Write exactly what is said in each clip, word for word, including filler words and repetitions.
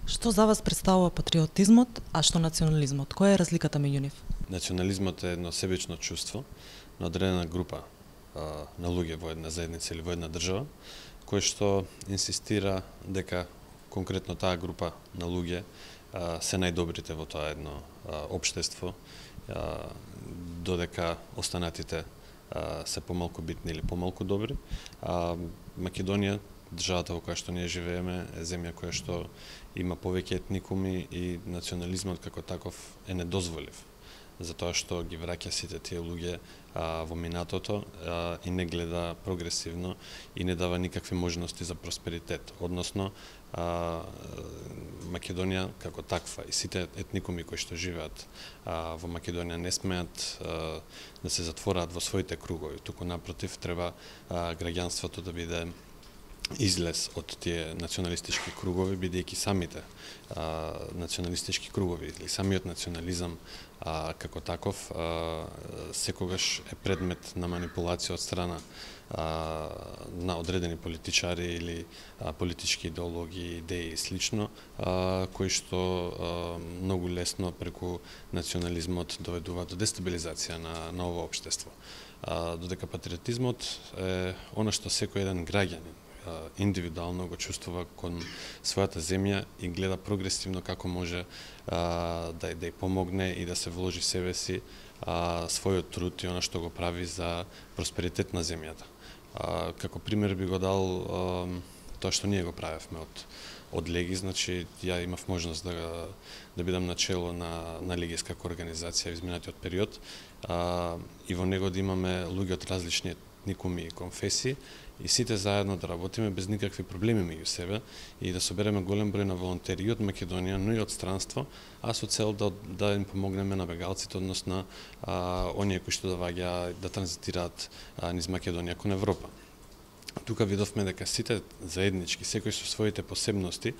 Што за вас представува патриотизмот, а што национализмот? Која е разликата меѓу нив? Национализмот е едно себично чувство на одредена група а, на луѓе во една заедница или во една држава, кој што инсистира дека конкретно таа група на луѓе а, се најдобрите во тоа едно а, општество, а, додека останатите а, се помалку битни или помалку добри. А Македонија, државата во која што ние живееме, е земја која што има повеќе етникуми и национализмот како таков е недозволив, затоа што ги враќа сите тие луѓе а, во минатото а, и не гледа прогресивно и не дава никакви можности за просперитет. Односно, а, Македонија како таква и сите етникуми кои што живеат а, во Македонија не смеат а, да се затвораат во своите кругови, туку напротив треба а, граѓанството да биде излез од тие националистички кругови, бидејќи самите а, националистички кругови или самиот национализам а, како таков а, секогаш е предмет на манипулација од страна а, на одредени политичари или а, политички идеологии, идеи и слично, а, кои што а, многу лесно преку национализмот доведува до дестабилизација на, на ово општество. А, додека патриотизмот е она што секој еден граѓанин индивидуално го чувствува кон својата земја и гледа прогресивно како може а, да, да ја помогне и да се вложи себе си а, својот труд и она што го прави за просперитет на земјата. А, како пример би го дал а, тоа што ние го правевме од од Леги, значи ја имав можност да да бидам начело на на легиска организација во изминатиот период а, и во него да имаме луѓе од различни етникуми и конфесии и сите заедно да работиме без никакви проблеми меѓу себе и да собереме голем број на волонтери и од Македонија, но и од странство, а со цел да да им помогнеме на бегалците, односно а, оние кои што доаѓаат да транзитираат а, низ Македонија кон Европа. Тука видовме дека сите заеднички, секој со своите посебности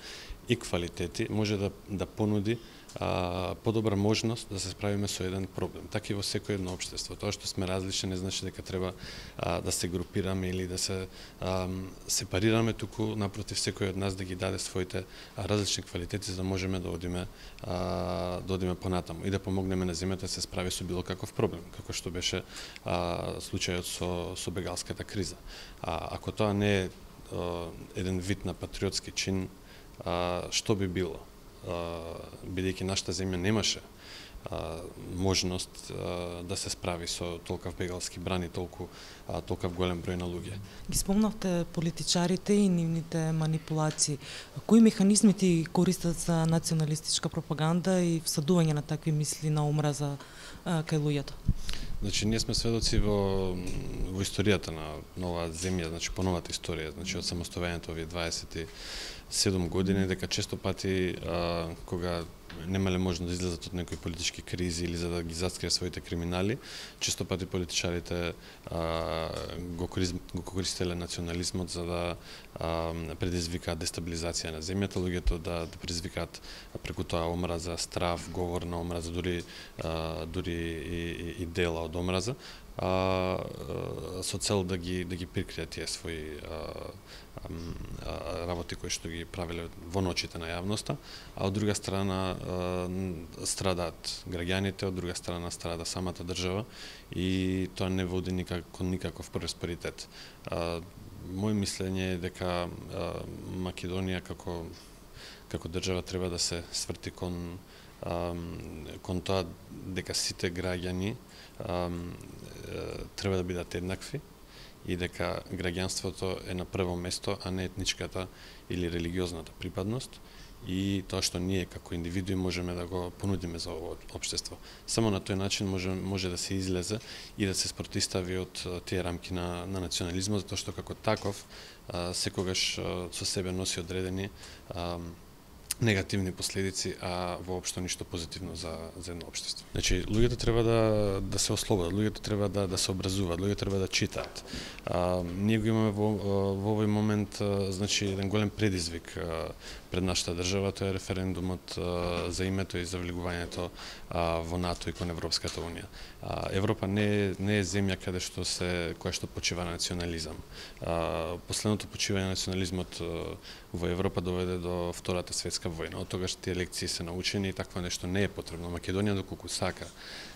и квалитети може да да понуди а, подобра можност да се справиме со еден проблем. Така и во секој едно општество. Тоа што сме различни не значи дека треба а, да се групираме или да се а, сепарираме, туку напротив секој од нас да ги даде своите а, различни квалитети за да можеме да одиме а, да одиме понатаму и да помогнеме на земјата да се справи со било каков проблем, како што беше а, случајот со со бегалската криза. А ако тоа не е а, еден вид на патриотски чин, а, што би било? Бидејќи нашата земја немаше а, можност а, да се справи со толкав бегалски брани, толку а, толкав голем број на луѓе. Ги спомнавте политичарите и нивните манипулации. Кои механизми ти користат за националистичка пропаганда и всадување на такви мисли на омраза а, кај луѓето? Значи, ние сме сведоци во, во историјата на нова земја, значи по новата историја, значи од самостојањето овие дваесет и седум години, дека често пати а, кога немале можност да излезат од некои политички кризи или за да ги заскријат своите криминали, често пати политичарите а, го, го користеле национализмот за да а, предизвикаат дестабилизација на земјата, луѓето да, да предизвикаат преку тоа омраза, страв, говор на омраза, дури а, дури и, и, и дела од омраза, а, а, со цел да ги да ги прикријат тие своји а, а, работи кои што ги правеле во ночите на јавноста, а од друга страна страдаат граѓаните, од друга страна страда самата држава и тоа не води никак, кон никаков просперитет. Мој мислење е дека а, Македонија како како држава треба да се сврти кон а, кон тоа дека сите граѓани а, треба да бидат еднакви и дека граѓанството е на прво место, а не етничката или религиозната припадност и тоа што ние како индивидуи можеме да го понудиме за ово општество. Само на тој начин може може да се излезе и да се спротистави од тие рамки на на национализмот, затоа што како таков а, секогаш а, со себе носи одредени а, негативни последици, а воопшто ништо позитивно за за едно општество. Значи, луѓето треба да да се ослободат, луѓето треба да да се образуваат, луѓето треба да читаат. А, ние го имаме во, во овој момент а, значи еден голем предизвик а, пред нашата држава, тоа е референдумот за името и за влегувањето во НАТО и кон Европската унија. Европа не е, не е земја каде што се која што почива на национализам. Последното почивање на национализмот во Европа доведе до Втората светска војна. Од тогаш тие лекции се научени и такво нешто не е потребно. Македонија доколку сака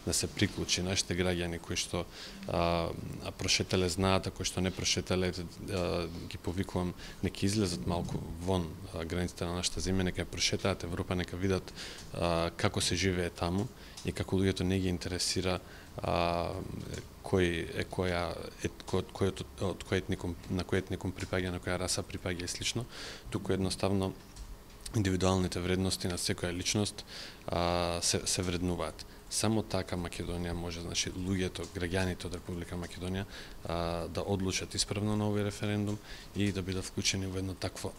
да се приклучи, нашите граѓани кои што а, прошетале знаат, а кои што не прошетале, а, ги повикувам, нека излезат малку вон а, границите на нашата земја, нека прошетаат Европа, нека видат а, како се живее таму и како луѓето не ги интересира а, кој е која кој, кој, од кој етникум, на кој етникум припаѓа, на која раса припаѓа и слично, туку едноставно индивидуалните вредности на секоја личност а, се, се вреднуваат. Само така Македонија може, значи, луѓето, граѓаните од Република Македонија а, да одлучат исправно на овој референдум и да бидат вклучени во едно такво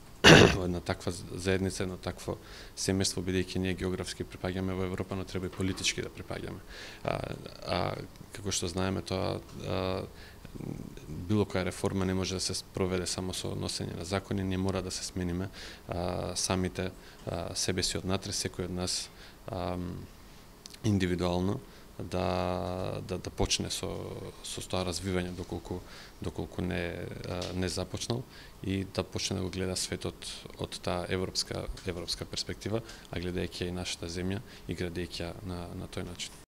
во една таква заедница, едно такво семејство, бидејќи ние географски припаѓаме во Европа, но треба и политички да припаѓаме. А, а како што знаеме, тоа а, било која реформа не може да се проведе само со носење на закони, ние мора да се смениме а, самите а, себе си однатре, секој од нас а, индивидуално да да да почне со со тоа развивање доколку доколку не не започнал и да почне да го гледа светот од таа европска европска перспектива, а гледајќи и нашата земја и градејќи ја на на тој начин.